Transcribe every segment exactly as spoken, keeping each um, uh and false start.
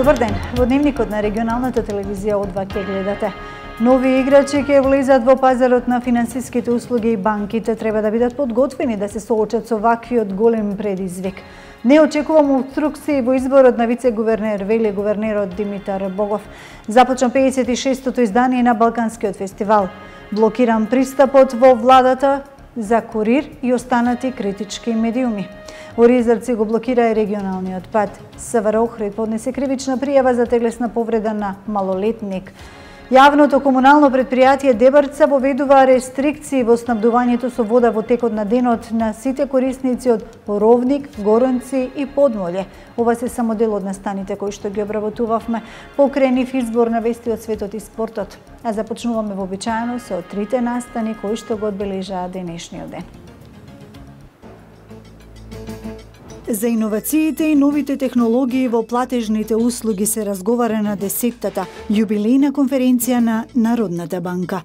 Добар ден, во дневникот на регионалната телевизија О два ќе гледате. Нови играчи ќе влезат во пазарот на финансиските услуги и банките треба да бидат подготвени да се соочат со ваквиот голем предизвик. Не очекувам обструкции во изборот на вице-гувернер, вели гувернерот Димитар Богов. Започна пеесет и шестото издание на Балканскиот фестивал. Блокиран пристапот во владата за Курир и останати критички медиуми. Оризарци го блокира и регионалниот пат. СВР Охрид поднесе кривична пријава за телесна повреда на малолетник. Јавното комунално предпријатие Дебарца воведува рестрикции во снабдувањето со вода во текот на денот на сите корисници од Ровник, Горанци и Подмолје. Ова се само дел од настаните кои што ги обработувавме покрај нив избор на вести од светот и спортот. А започнуваме вообичаено со трите настани кои што го одбележаа денешниот ден. За иновациите и новите технологии во платежните услуги се разговара на десеттата јубилејна конференција на Народната банка.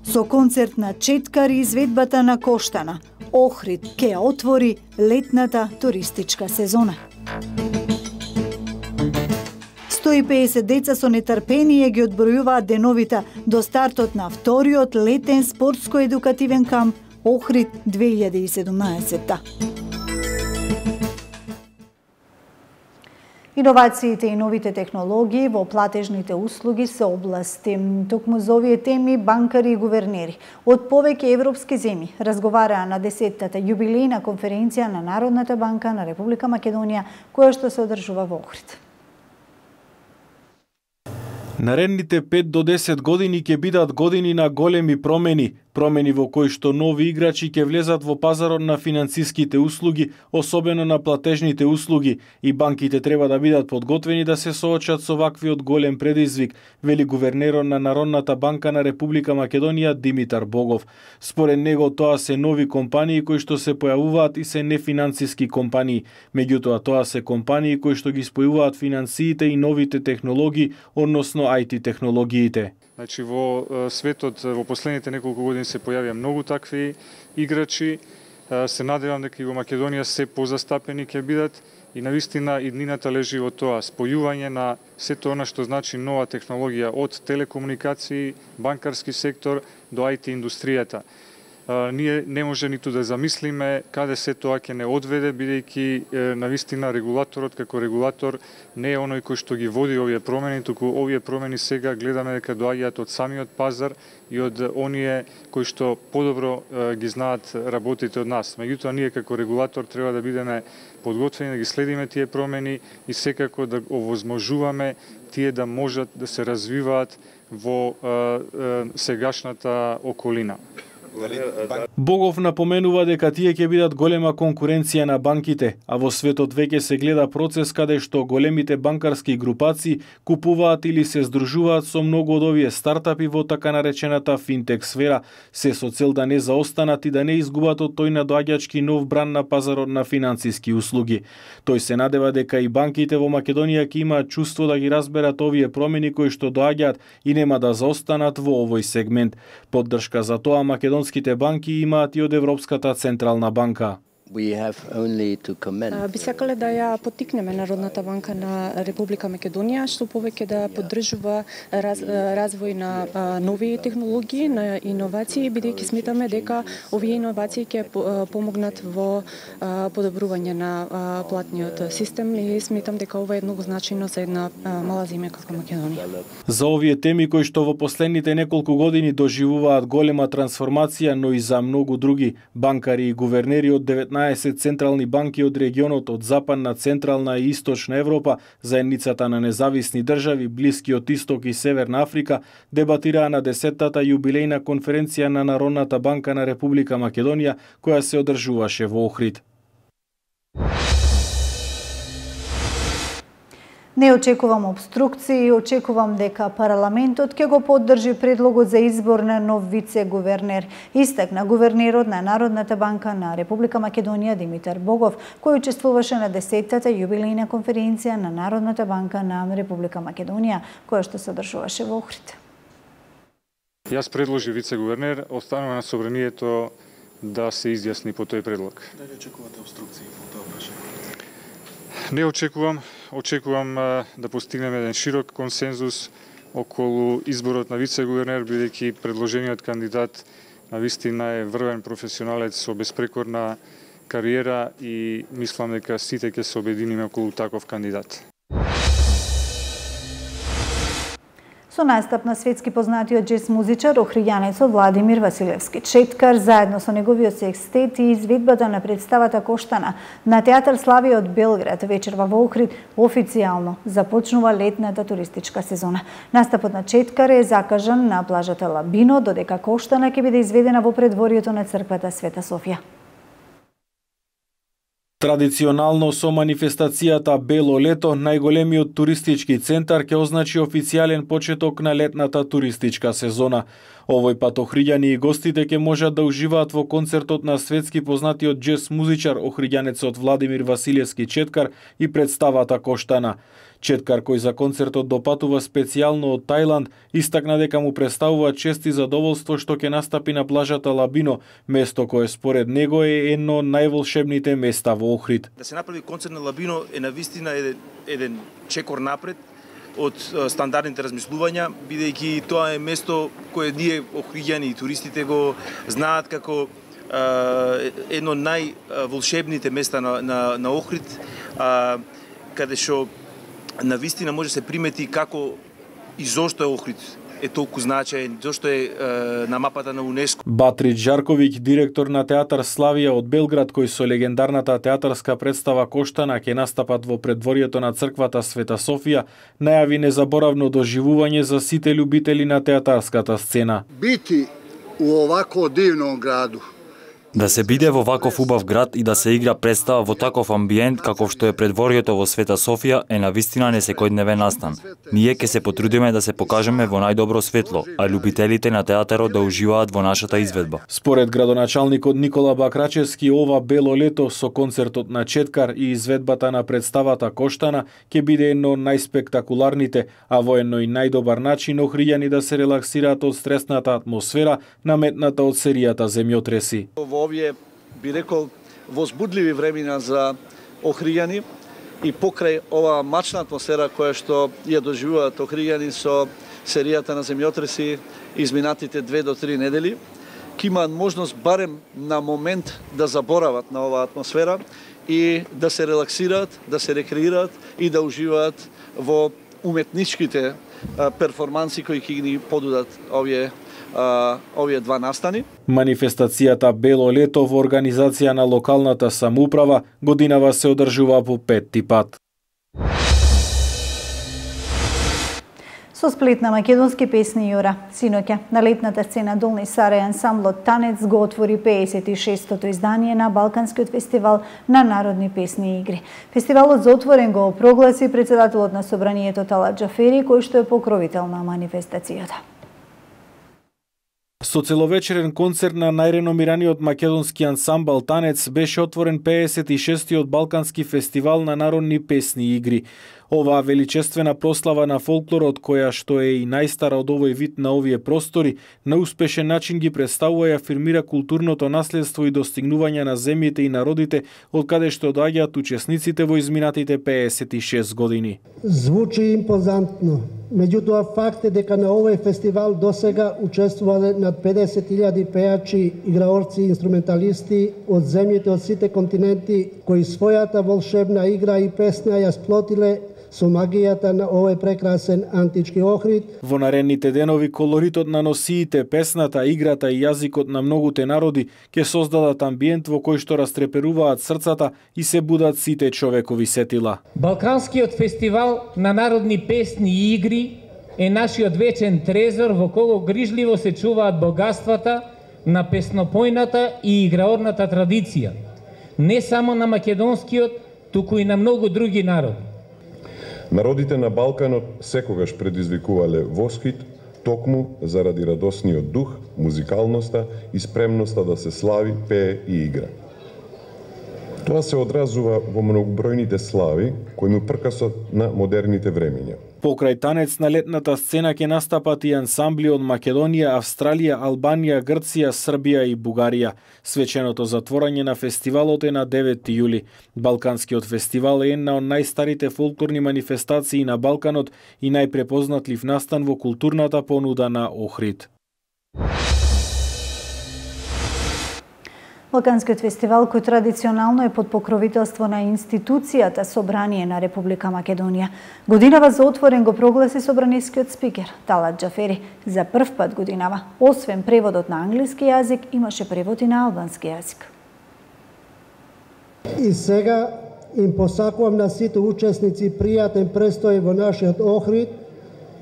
Со концерт на Четкар и изведбата на Коштана, Охрид ќе отвори летната туристичка сезона. сто и песет деца со нетрпение ги одбројуваат деновите до стартот на вториот летен спортско-едукативен камп Охрид две илјади и седумнаесетта. Иновациите и новите технологии во платежните услуги се области. Токму за овие теми банкари и гувернери од повеќе европски земји разговараа на десеттата јубилејна конференција на Народната банка на Република Македонија, која што се одржува во Охрид. Наредните пет до десет години ќе бидат години на големи промени, промени во кои што нови играчи ќе влезат во пазарот на финансиските услуги, особено на платежните услуги, и банките треба да бидат подготвени да се соочат со ваквиот голем предизвик, вели гувернерот на Народната банка на Република Македонија Димитар Богов. Според него тоа се нови компании кои што се појавуваат и се нефинансиски компании, меѓутоа тоа се компании кои што ги спојуваат финансиите и новите технологии, односно ај ти технологиите. Значи, во светот во последните неколку години се појавија многу такви играчи. Се надевам дека и во Македонија се позастапени ќе бидат и навистина иднината лежи во тоа спојување на сето она што значи нова технологија од телекомуникации, банкарски сектор до ај ти индустријата. Ние не може ниту да замислиме каде се тоа ќе не одведе, бидејќи навистина регулаторот како регулатор не е оној кој што ги води овие промени, туку овие промени сега гледаме дека доаѓаат од самиот пазар и од оние кои што подобро ги знаат работите од нас. Меѓутоа ние како регулатор треба да бидеме подготвени да ги следиме тие промени и секако да овозможуваме тие да можат да се развиваат во сегашната околина. Богов напоменува дека тие ќе бидат голема конкуренција на банките, а во светот веќе се гледа процес каде што големите банкарски групации купуваат или се здружуваат со многу од овие стартапи во така наречената финтек сфера, се со цел да не заостанат и да не изгубат од тој надоаѓачки нов бран на пазарот на финансиски услуги. Тој се надева дека и банките во Македонија ќе имаат чувство да ги разберат овие промени кои што доаѓаат и нема да заостанат во овој сегмент. Поддршка за тоа македонските банки имаат и од Европската централна банка. Би сакале да ја поттикнеме Народната банка на Република Македонија што повеќе да поддржува раз, развој на нови технологии, на иновации, бидејќи сметаме дека овие иновации ќе помогнат во подобрување на платниот систем и сметам дека ова е многу значајно за една мала земја како Македонија. За овие теми кои што во последните неколку години доживуваат голема трансформација, но и за многу други банкари и гувернери од деветнаесет централни банки од регионот од Западна, Централна и Источна Европа, заедницата на независни држави, Блискиот Исток и Северна Африка, дебатираа на десеттата јубилејна конференција на Народната банка на Република Македонија, која се одржуваше во Охрид. Не очекувам обструкции, очекувам дека парламентот ќе го поддржи предлогот за избор на нов вице-гувернер, истакна гувернерот на Народната банка на Република Македонија Димитар Богов, кој учествуваше на десеттата јубилејна конференција на Народната банка на Република Македонија, која што се одржуваше во Охрид. Јас предложи вице-гувернер, останува на собранието да се изјасни по тој предлог. Дали очекувате обструкции по тоа прашање? Не очекувам, очекувам да постигнеме еден широк консензус околу изборот на вице-гувернер, бидејќи предложениот кандидат навистина е врвен професионалец со безпрекорна кариера и мислам дека сите ќе се обединиме околу таков кандидат. Со настап на светски познатиот джез музичар, охријанецот Владимир Василевски Четкар, заедно со неговиот секстет и изведбата на представата Коштана на Театар Славија од Белград вечерва во Охрид официјално започнува летната туристичка сезона. Настапот на Четкар е закажан на плажата Лабино, додека Коштана ќе биде изведена во предворието на црквата Света Софија. Традиционално со манифестацијата Бело лето, најголемиот туристички центар ќе означи официјален почеток на летната туристичка сезона. Овој пат охриѓани и гостите ќе можат да уживаат во концертот на светски познатиот джез музичар, охриѓанецот Владимир Василевски Четкар и представата Коштана. Четкар, кој за концертот допатува специјално од Тајланд, истакна дека му представува чест и задоволство што ќе настапи на плажата Лабино, место кое според него е едно од најволшебните места во Охрид. Да се направи концерт на Лабино е навистина еден, еден чекор напред од стандардните размислувања, бидејќи тоа е место кое ние охриѓани и туристите го знаат како е, едно најволшебните места на, на, на Охрид, а, каде што навистина може се примети како и зошто е Охрид е толку значаен, зошто е, е на мапата на УНЕСКО. Батрич Жарковиќ, директор на Театар Славија од Белград, кој со легендарната театарска представа Коштана ќе настапат во предворието на црквата Света Софија, најави незаборавно доживување за сите љубители на театарската сцена. Бити у овако дивном граду, да се биде во ваков убав град и да се игра представа во таков амбиент каков што е предворието во Света Софија е навистина не секојдневен настан. Ние ќе се потрудиме да се покажеме во најдобро светло, а љубителите на театарот да уживаат во нашата изведба. Според градоначалникот Никола Бакрачевски, ова Бело лето со концертот на Четкар и изведбата на представата Коштана ќе биде едно од најспектакуларните, а во едно и најдобар начин охријани да се релаксираат од стресната атмосфера наметната од серијата земјотреси. Во овие, би рекол, возбудливи времена за охријани и покрај ова мачна атмосфера која што ја доживуваат охријани со серијата на земјотреси изминатите две до три недели, ќе имаат можност барем на момент да заборават на оваа атмосфера и да се релаксираат, да се рекреираат и да уживаат во уметничките перформанси кои ќе ни подудат овие Uh, овие два настани. Манифестацијата Бело лето во организација на локалната самоуправа годинава се одржува по петти пат. Со сплит на македонски песни Јура. Синоќа на летната сцена Долни Сарај ансамблот Танец го отвори пеесет и шестото издание на Балканскиот фестивал на народни песни и игри. Фестивалот за отворен го прогласи председателот на собранието Талат Џафери, кој што е покровител на манифестацијата. Со целовечерен концерт на најреномираниот македонски ансамбл Танец беше отворен пеесет и шестиот Балкански фестивал на народни песни и игри. Оваа величествена прослава на фолклорот, која што е и најстара од овој вид на овие простори, на успешен начин ги представува и афирмира културното наследство и достигнувања на земјите и народите од каде што доаѓаат учесниците во изминатите пеесет и шест години. Звучи импозантно. Меѓутоа факт е дека на овој фестивал досега учествувале над педесет илјади пејачи, играорци и инструменталисти од земјите од сите континенти кои својата волшебна игра и песна ја сплотиле со магијата на овој прекрасен антички Охрид. Во наредните денови колоритот на носиите, песната, играта и јазикот на многуте народи ќе создадат амбиент во кој што растреперуваат срцата и се будат сите човекови сетила. Балканскиот фестивал на народни песни и игри е нашиот вечен трезор во кого грижливо се чуваат богатствата на песнопојната и играорната традиција, не само на македонскиот, туку и на многу други народи. Народите на Балканот секогаш предизвикувале восхит, токму заради радосниот дух, музикалноста и спремноста да се слави, пее и игра. Тоа се одразува во многобројните слави кои му пркасот на модерните времења. Покрај танец на летната сцена ќе настапат и ансамбли од Македонија, Австралија, Албанија, Грција, Србија и Бугарија. Свеченото затворање на фестивалот е на деветти јули. Балканскиот фестивал е една од најстарите фолклорни манифестации на Балканот и најпрепознатлив настан во културната понуда на Охрид. Балканскиот фестивал, кој традиционално е под покровителство на институцијата Собрание на Република Македонија, годинава за отворен го прогласи собранискиот спикер Талат Џафери. За прв пат годинава, освен преводот на англиски јазик, имаше превод и на албански јазик. И сега им посакувам на сите учесници пријатен престој во нашиот Охрид,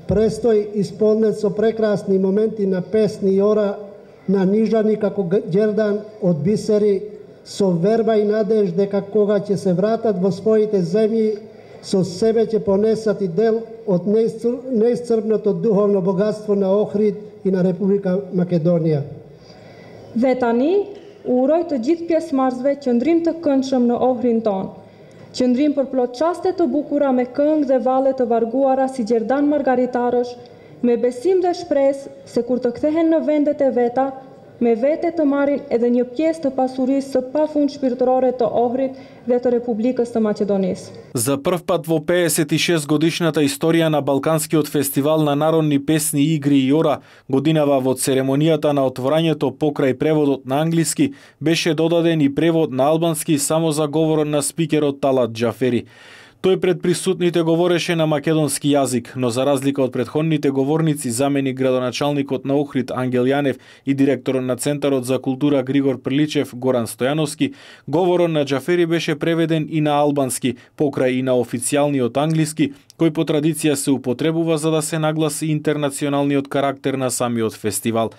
престој исполнет со прекрасни моменти на песни и ора, на нижани како ѓердан од бисери, со верба и надеж дека кога ќе се вратат во своите земји, со себе ќе понесат и дел од неисцрпното духовно богатство на Охрид и на Република Македонија. Dhe tani, uroj të gjithë pjesëmarrësve qëndrim të këndshëm në Ohrin ton. Qëndrim për plot çaste të bukura me këngë dhe valle të varguara si gjerdan margaritarësh, me besim dhe shpresë se kur të kthehen në vendet e veta, me vete të marrin edhe një pjesë të pasurisë së pafund shpirtërore të Ohrit dhe të Republikës të Maqedonisë. За прв пат во пеесет и шест годишната историја на Балканскиот фестивал на народни песни, игри и ора, годинава во церемонијата на отворањето покрај преводот на англиски, беше додаден и превод на албански само за говорот на спикерот Талат Џафери. Тој пред присутните говореше на македонски јазик, но за разлика од претходните говорници, заменик градоначалникот на Охрид Ангел Јанев и директорот на Центарот за култура Григор Приличев Горан Стојановски, говорот на Џафери беше преведен и на албански, покрај и на официјалниот англиски, кој по традиција се употребува за да се нагласи интернационалниот карактер на самиот фестивал.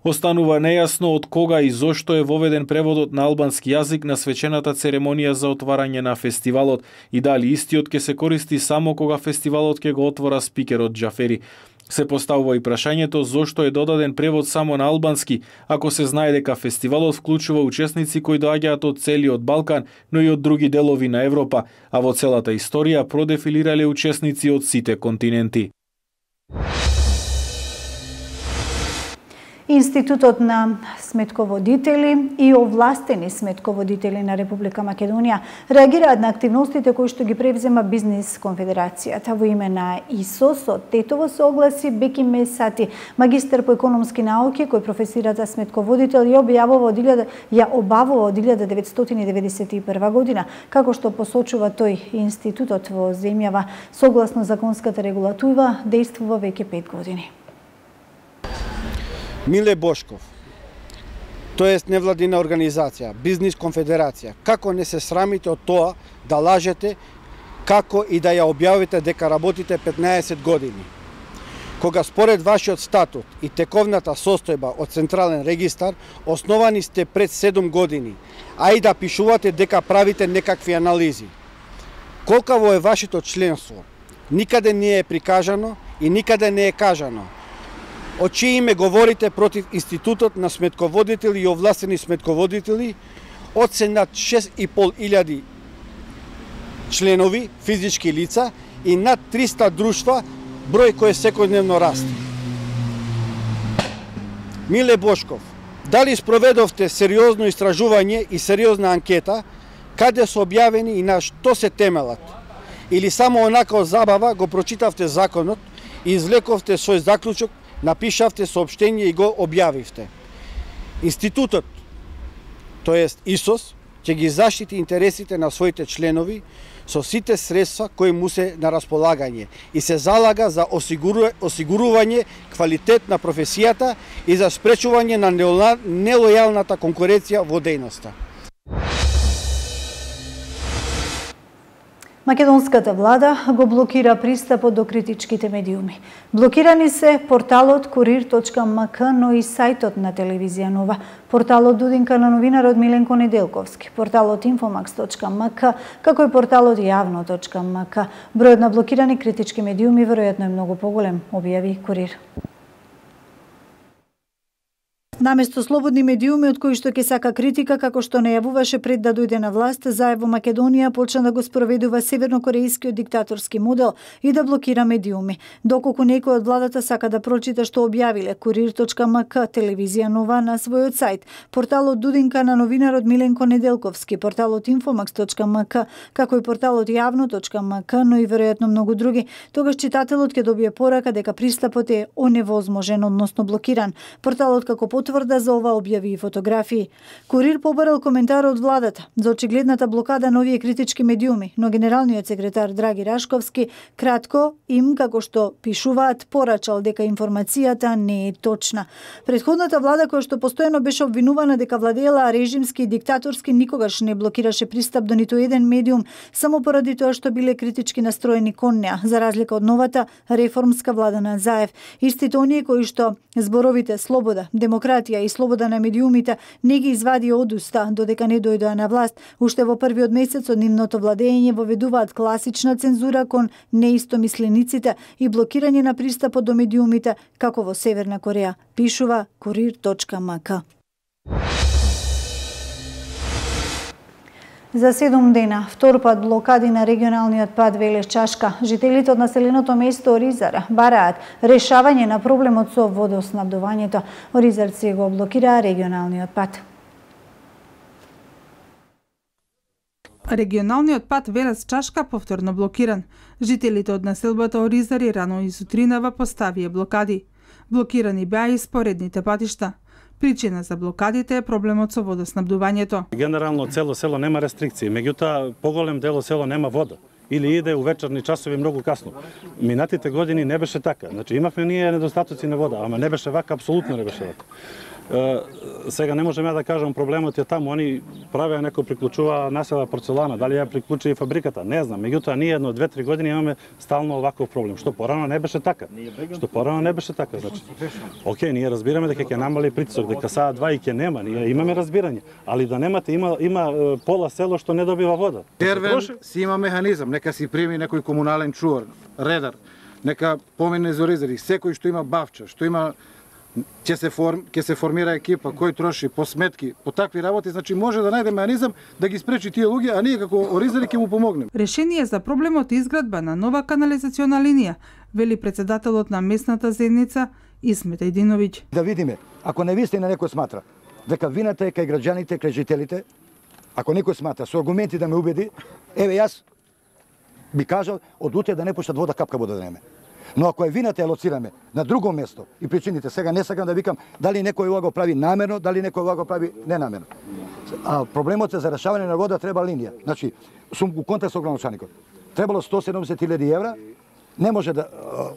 Останува нејасно од кога и зошто е воведен преводот на албански јазик на свечената церемонија за отварање на фестивалот и дали истиот ќе се користи само кога фестивалот ќе го отвора спикерот Џафери. Се поставува и прашањето зошто е додаден превод само на албански, ако се знае дека фестивалот вклучува учесници кои доаѓаат од целиот Балкан, но и од други делови на Европа, а во целата историја продефилирале учесници од сите континенти. Институтот на сметководители и овластени сметководители на Република Македонија реагираат на активностите кои што ги превзема Бизнис конфедерацијата. Во име на ИСОС од Тетово се огласи Беки Месати, магистар по економски науки кој професира за сметководител и објавува од ја обавува од илјада деветстотини и деветдесет и прва година. Како што посочува тој, институтот во земјава согласно законската регулатива действува веќе пет години. Миле Бошков, тоест невладина организација, Бизнис конфедерација, како не се срамите од тоа да лажете, како и да ја објавите дека работите петнаесет години? Кога според вашиот статут и тековната состојба од Централен регистар, основани сте пред седум години, а и да пишувате дека правите некакви анализи. Колкаво е вашето членство, никаде не е прикажано и никаде не е кажано. Од чие име говорите против Институтот на сметководители и овластени сметководители, од се над шест и пол илјади членови, физички лица и над триста друштва, број кој секојдневно расте. Миле Бошков, дали спроведовте сериозно истражување и сериозна анкета, каде се објавени и на што се темелат? Или само онака од забава го прочитавте законот и извлековте свој заклучок, напишавте соопштение и го објавивте? Институтот, тоест ИСОС, ќе ги заштити интересите на своите членови со сите средства кои му се на располагање и се залага за осигуру... осигурување квалитет на професијата и за спречување на нелојалната конкуренција во дејноста. Македонската влада го блокира пристапот до критичките медиуми. Блокирани се порталот курир точка ем ка, но и сајтот на телевизија Нова, порталот Дудинка на новинарот Миленко Неделковски, порталот инфомакс точка ем ка, како и порталот јавно точка ем ка. Бројот на блокирани критички медиуми веројатно е многу поголем, објави Курир. Наместо слободни медиуми од кои што ќе сака критика како што најавуваше пред да дојде на власт, Заев во Македонија почна да го спроведува севернокорејскиот диктаторски модел и да блокира медиуми. Доколку некој од владата сака да прочита што објавиле Курир точка ем ка, телевизија Нова на својот сајт, порталот Дудинка на новинарот Миленко Неделковски, порталот Инфомакс точка ем ка, како и порталот Јавно точка ем ка, но и веројатно многу други, тогаш читателот ќе добие порака дека пристапот е оневозможен, односно блокиран. Порталот како потврда за ова објави и фотографии. Курир побарал коментар од владата за очигледната блокада на овие критички медиуми, но генералниот секретар Драги Рашковски кратко им, како што пишуваат, порачал дека информацијата не е точна. Претходната влада, која што постојано беше обвинувана дека владеела режимски и диктаторски, никогаш не блокираше пристап до ниту еден медиум, само поради тоа што биле критички настроени кон неа, за разлика од новата реформска влада на Заев. Истите оние кои што зборовите слобода, демократија и слобода на медиумите не ги извади од уста додека не дојдоа на власт, уште во првиот месец од нивното владење воведуваат класична цензура кон неистомислениците и блокирање на пристапот до медиумите како во Северна Кореја, пишува Курир точка ем ка. За седум дена, втор пат блокади на регионалниот пат Велес-Чашка. Жителите од населеното место Оризар бараат решавање на проблемот со водоснабдувањето. Оризарци го блокираа регионалниот пат. Регионалниот пат Велес-Чашка повторно блокиран. Жителите од населбата Оризари рано и сутринава поставија блокади. Блокирани беа и споредните патишта. Причина за блокадите е проблемот со водоснабдувањето. Генерално цело село нема рестрикции, меѓутоа поголем дел село нема вода или иде у вечерни часови многу касно. Минатите години не беше така. Значи имавме ние недостатоци на вода, ама не беше вака, апсолутно не беше вака. Uh, сега не можеме да кажам проблемот е таму, они правеа некој приклучува насела порцелана, дали ја приклучи и фабриката, не знам. Меѓутоа ние едно две-три години имаме стално оваков проблем, што порано не беше така. Што порано не беше така, значи. Океј, ние разбираме дека ќе намали притисок, дека саа два и ќе нема, ние имаме разбирање, али да немате има има пола село што не добива вода. Тервен си има механизам, нека си прими некој комунален чувар, редар, нека помине за Оризари, секој што има бавча, што има ќе се форм, ќе се формира екипа кој троши по сметки, по такви работи, значи може да најде механизам да ги спречи тие луѓе, а ние како Оризари ќе му помогнеме. Решение за проблемот е изградба на нова канализациона линија, вели претседателот на местната заедница Исмет Ајдиновиќ. Да видиме, ако не вистина некој сматра дека вината е кај граѓаните, кај жителите, ако некој сматра со аргументи да ме убеди, еве јас би кажал од утре да не пуштат вода, капка вода да неме. Но ако е вината ја лоцираме на друго место и причините, сега не сакам да викам дали некој ова го прави намерно, дали некој ова го прави ненамерно. А проблемот е за решавање на вода треба линија. Значи, сум у контакт со градоначалникот. Требало сто седумдесет илјади евра, не може да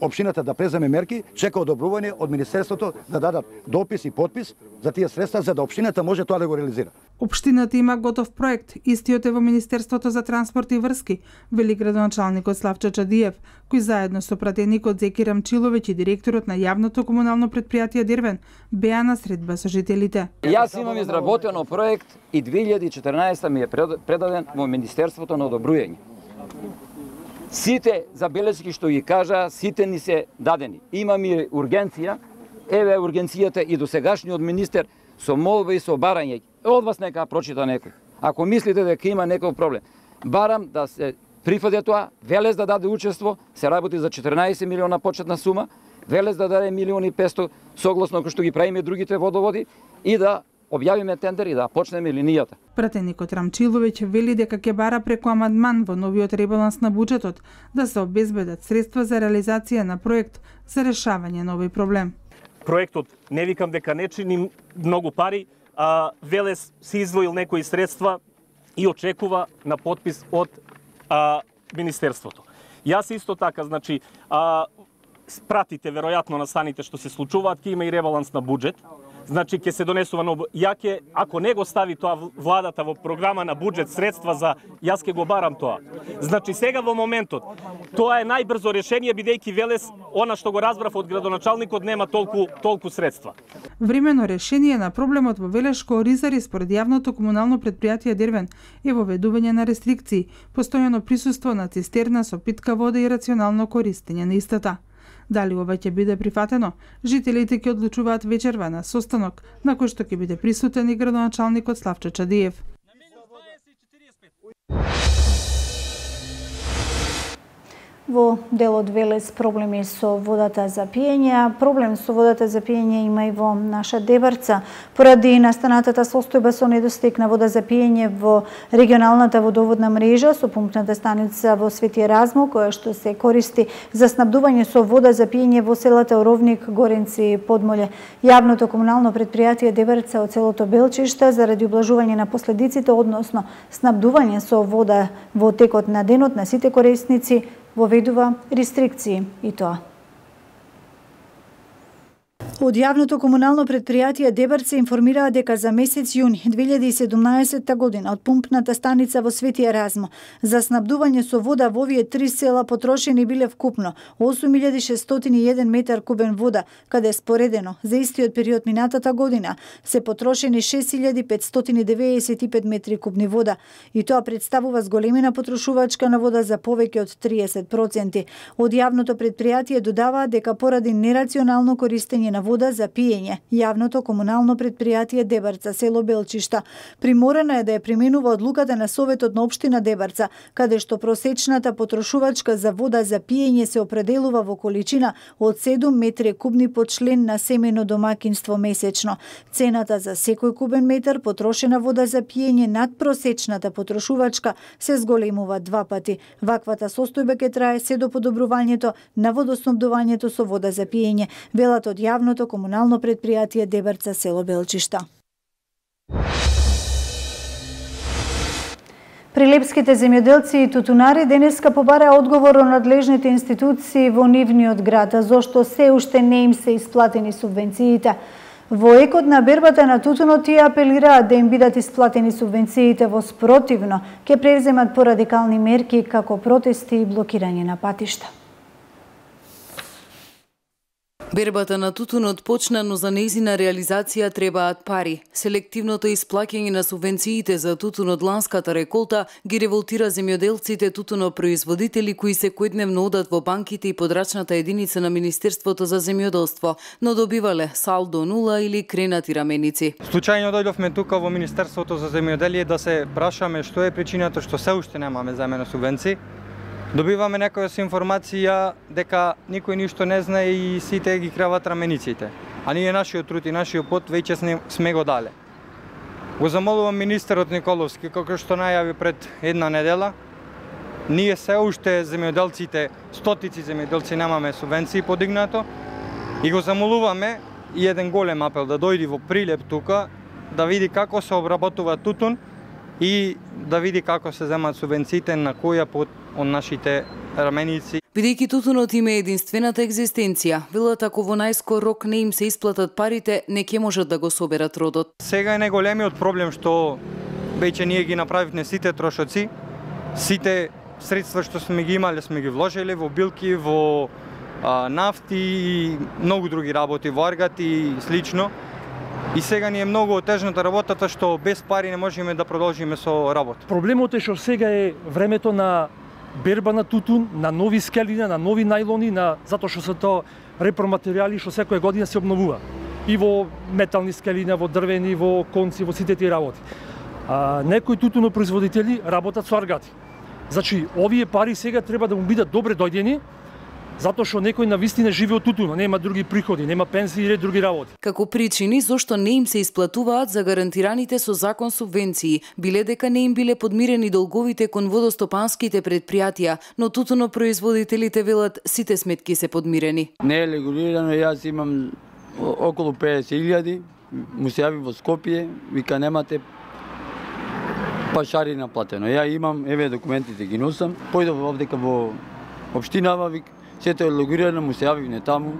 општината да преземе мерки, чека одобрување од министерството да дадат допис и подпис за тие средства за да општината може тоа да го реализира. Општината има готов проект, истиот е во Министерството за транспорт и врски, вели градоначалникот Славчо Чадиев, кој заедно со пратеникот Зеки Рамчиловиќ и директорот на јавното комунално претпријатие Дервен беа на средба со жителите. Јас имам изработено проект и две илјади и четрнаесетта ми е предаден во Министерството на одобрување. Сите забелешки што ги кажа, сите ни се дадени. Имаме ургенција, еве ургенцијата и досегашниот министер со молба и со барање. Од вас нека прочита некој. Ако мислите дека има некој проблем, барам да се прифаде тоа, Велес да даде учество, се работи за четрнаесет милиона почетна сума, Велес да даде милион и песто согласно кој што ги правиме другите водоводи и да објавиме тендер и да почнеме линијата. Пратеникот Рамчиловиќ вели дека ќе бара преку амандман во новиот ребаланс на буџетот да се обезбедат средства за реализација на проект за решавање на овој проблем. Проектот не викам дека не чини многу пари, а Велес си издвоил некои средства и очекува на подпис од а, Министерството. Јас исто така, значи, а, пратите веројатно на станите што се случуваат, ќе има и ребаланс на буџет. Значи ќе се донесува нов. Ја ќе, ако не го стави тоа владата во програма на буџет средства за, јас ќе го барам тоа. Значи сега во моментот тоа е најбрзо решение бидејќи Велес, она што го разбрав од градоначалникот, нема толку толку средства. Времено решение на проблемот во Велешко Оризари според јавното комунално претпријатие Дервен е воведување на рестрикции, постојано присуство на цистерна со питка вода и рационално користење на истата. Дали ова ќе биде прифатено? Жителите ќе одлучуваат вечерва на состанок на кој што ќе биде присутен и градоначалникот Славчо Чадиев. Во делот Велес проблеми со водата за пиење. Проблем со водата за пиење има и во наша Дебарца. Поради настанатата состојба со недостиг на вода за пиење во регионалната водоводна мрежа со пумпната станица во Свети Еразмо, која што се користи за снабдување со вода за пиење во селата Оровник, Горенци и Подмоле. Јавното комунално предпријатие Дебарца од селото Белчишта заради облажување на последиците, односно снабдување со вода во текот на денот на сите корисници, воведува рестрикции и тоа. Од јавното комунално предпријатие Дебарца информираа дека за месец јуни две илјади и седумнаесетта година од пумпната станица во Свети Еразмо за снабдување со вода во овие три села потрошени биле вкупно осум илјади шестстотини и еден метар кубен вода, каде споредено за истиот период минатата година се потрошени шест илјади петстотини деветдесет и пет метри кубни вода, и тоа представува зголемена потрошувачка на вода за повеќе од триесет проценти. Од јавното предпријатие додаваа дека поради нерационално користење на вода за пиење, јавното комунално предпријатие Дебарца село Белчишта приморена е да ја применува одлуката на Советот на општина Дебарца, каде што просечната потрошувачка за вода за пиење се определува во количина од седум метри кубни по член на семејно домаќинство месечно. Цената за секој кубен метар потрошена вода за пиење над просечната потрошувачка се зголемува два пати. Ваквата состојба ќе трае се до подобрувањето на водоснабдувањето со вода за пиење, велат од јавното комунално предпријатие Дебарца село Белчишта. Прилепските земјоделци и тутунари денеска побараа одговор од надлежните институции во нивниот град, зошто се уште не им се исплатени субвенциите. Во екот на бербата на тутунот тие апелираат да им бидат исплатени субвенциите, во спротивно ќе преземат порадикални мерки како протести и блокирање на патишта. Бербата на тутунот почна, но за нејзина реализација требаат пари. Селективното исплаќање на субвенциите за тутунот ланската реколта ги револтира земјоделците тутунопроизводители кои секојдневно одат во банките и подрачната единица на Министерството за земјоделство, но добивале салдо нула или кренати раменици. Случајно дојдовме тука во Министерството за земјоделие да се прашаме што е причината што се уште немаме земени субвенции. Добиваме некоја информација дека никој ништо не знае и сите ги крават рамениците. А ние нашиот труд и нашиот пот веќе сме го дале. Го замолувам министерот Николовски, како што најави пред една недела, ние се уште земјоделците, стотици земјоделци немаме субвенции подигнато, и го замолуваме и еден голем апел да дојди во Прилеп тука, да види како се обработува тутун и да види како се земат субвенциите на која пот од нашите раменици. Бидејќи тутунот има единствената екзистенција, велат ако во најскор рок не им се исплатат парите, не ќе можат да го соберат родот. Сега е најголемиот проблем што веќе ние ги направивме сите трошоци, сите средства што сме ги имале сме ги вложиле во билки, во а, нафти и многу други работи, во аргати и слично. И сега ни е многу отежната работата што без пари не можеме да продолжиме со работа. Проблемот е што сега е времето на берба на тутун, на нови скелини, на нови најлони, на затоа што се тоа репроматеријали што секоја година се обновува. И во метални скелини, во дрвени, во конци, во сите тие работи. А, некои тутунопроизводители работат со аргати. Значи, овие пари сега треба да му бидат добре дојдени, затоа што некој навистина живее од тутуна, нема други приходи, нема пензии и други работи. Како причини зошто не им се исплатуваат за гарантираните со закон субвенции, биле дека не им биле подмирени долговите кон водостопанските предпријатија, но тутунопроизводителите велат сите сметки се подмирени. Не е регулирано, јас имам околу педесет илјади, му се јави во Скопје, вика немате пашари наплатено. Ја имам, еве документите ги носам, појдов овдека во општинава, вика сето е логирано, му се јавивне таму.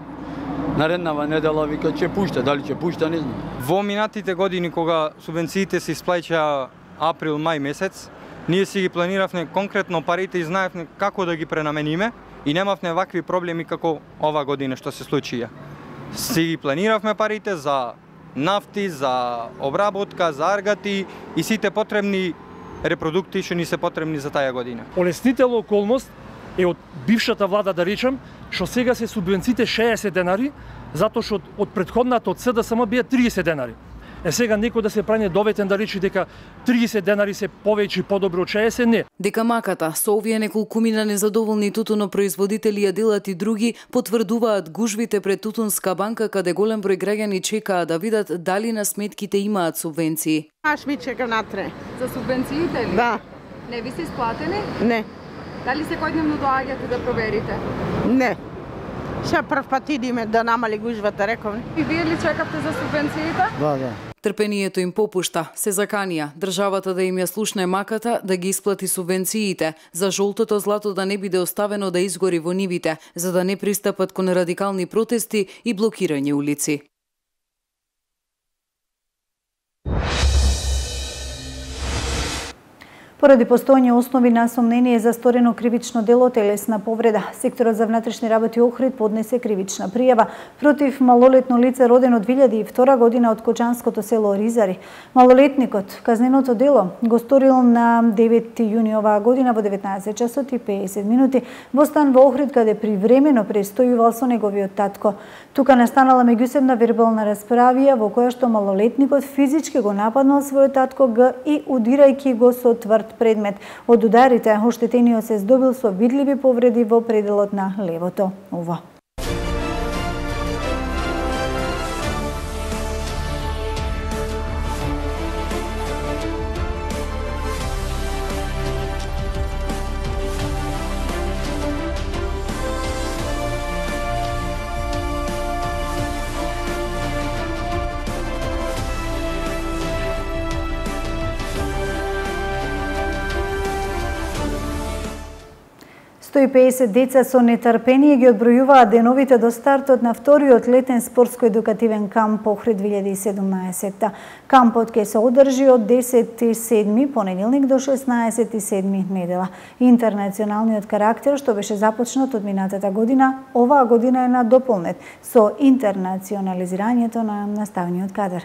Нареднава недела вика ќе пушта, дали ќе пушта, не знам. Во минатите години кога субвенциите се исплаќаа април, мај месец, ние си ги планиравме конкретно парите и знаевме како да ги пренамениме и немавме вакви проблеми како ова година што се случија. Си ги планиравме парите за нафти, за обработка, за аргати и сите потребни репродукти што ни се потребни за таа година. Олеснителна околност е од бившата влада, да речем, што сега се субвенциите шеесет денари, затоа што од претходната од СДСМ бие триесет денари. Е сега некој да се прави доветен да речи дека триесет денари се повеќе и подобро од шеесет, не. Дека маката со овие неколкумина незадоволни тутунопроизводители ја делат и други, потврдуваат гужвите пред Тутунска банка, каде голем број граѓани чекаат да видат дали на сметките имаат субвенции. Аш ми чека натре. За субвенциите ли? Да. Не ви се исплатени? Не. Дали секојдневно доаѓате да проверите? Не. Ша прв пат идиме да намали гужвата, рековме. И вие ли чекавте за субвенциите? Да, да. Трпението им попушта, се заканија државата да им ја слушне маката да ги исплати субвенциите, за жолтото злато да не биде оставено да изгори во нивите, за да не пристапат кон радикални протести и блокирање улици. Поради постојање основи на сомнение за сторено кривично дело телесна повреда, секторот за внатрешни работи Охрид поднесе кривична пријава против малолетно лице родено две илјади и втора година од Кочанското село Ризари. Малолетникот казненото дело го сторил на девети јуни оваа година во деветнаесет часот и песет минути во стан во Охрид, каде привремено престојувал со неговиот татко. Тука настанала меѓусебна вербална расправија во која што малолетникот физички го нападнал својот татко Г и удирајќи го со тврд предмет. Од ударите, оштетениот се здобил со видливи повреди во пределот на левото уво. сто и песет деца со нетрпение ги одбројуваат деновите до стартот на вториот летен спортско-едукативен камп Охрид две илјади и седумнаесетта. Кампот ќе се одржи од десети седми понеделник до шеснаесети седми недела. Интернационалниот карактер што беше започнат од минатата година, оваа година е надополнет со интернационализирањето на наставниот кадар.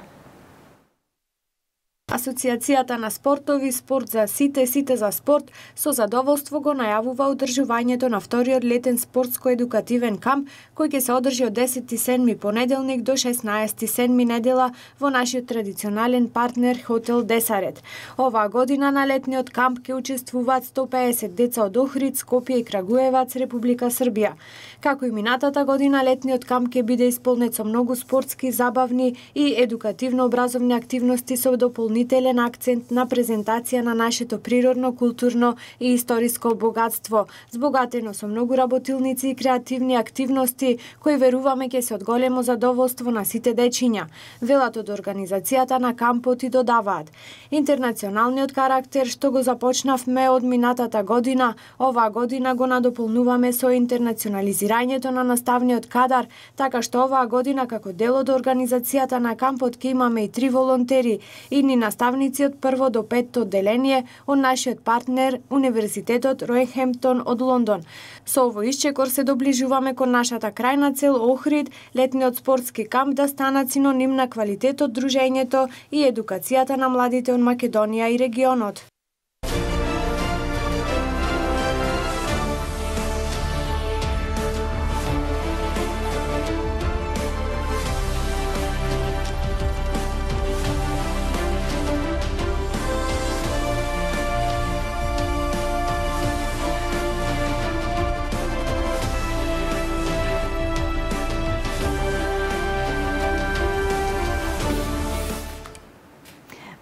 Асоциацијата на спортови Спорт за сите, сите за спорт со задоволство го најавува одржувањето на вториот летен спортско-едукативен камп кој ќе се одржи од десети седми понеделник до шеснаесети седми недела во нашиот традиционален партнер Хотел Десарет. Оваа година на летниот камп ќе учествуваат сто и песет деца од Охрид, Скопје и Крагуевац, Република Србија. Како и минатата година, летниот камп ќе биде исполнет со многу спортски, забавни и едукативно-образовни активности со дополнителен акцент на презентација на нашето природно, културно и историско богатство, збогатено со многу работилници и креативни активности кои веруваме ќе се од големо задоволство на сите дечиња. Велат од организацијата на кампот и додаваат: интернационалниот карактер што го започнавме од минатата година, оваа година го надополнуваме со интернационализирањето на наставниот кадар, така што оваа година како дел од организацијата на кампот ќе имаме и три волонтери и ни наставници од прво до петто одделение од нашиот партнер Универзитетот Роенгхемптон од Лондон. Со овој исчекор се доближуваме кон нашата крајна цел Охрид, летниот спортски камп да станат синоним на квалитетот, дружењето и едукацијата на младите од Македонија и регионот.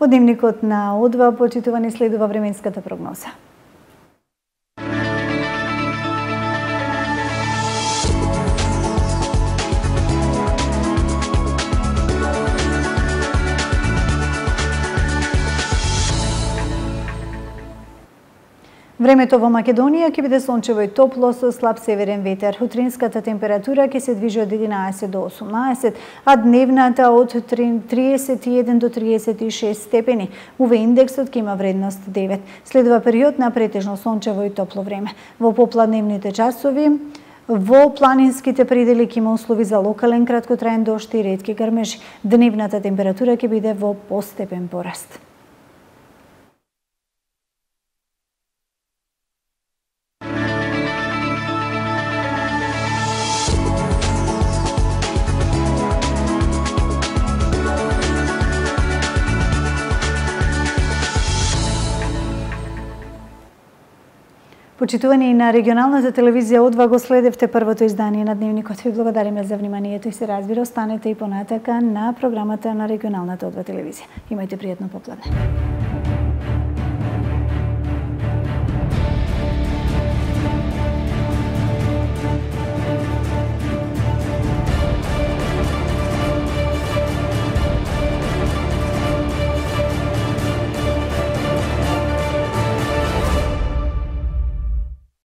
Од дневникот на О два, почитувани, следува временската прогноза. Времето во Македонија ќе биде сончево и топло со слаб северен ветер. Утринската температура ќе се движи од единаесет до осумнаесет, а дневната од триесет и еден до триесет и шест степени. У ве индексот ќе има вредност девет. Следува период на претежно сончево и топло време. Во попладневните часови во планинските предели ќе има услови за локален краткотраен дожд и ретки грмежи. Дневната температура ќе биде во постепен пораст. Почитувани и на регионалната телевизија О два го следевте првото издание на Дневникот. Ви благодариме за вниманието и се разбира, останете и понатака на програмата на регионалната О два телевизија. Имајте пријатно попладне.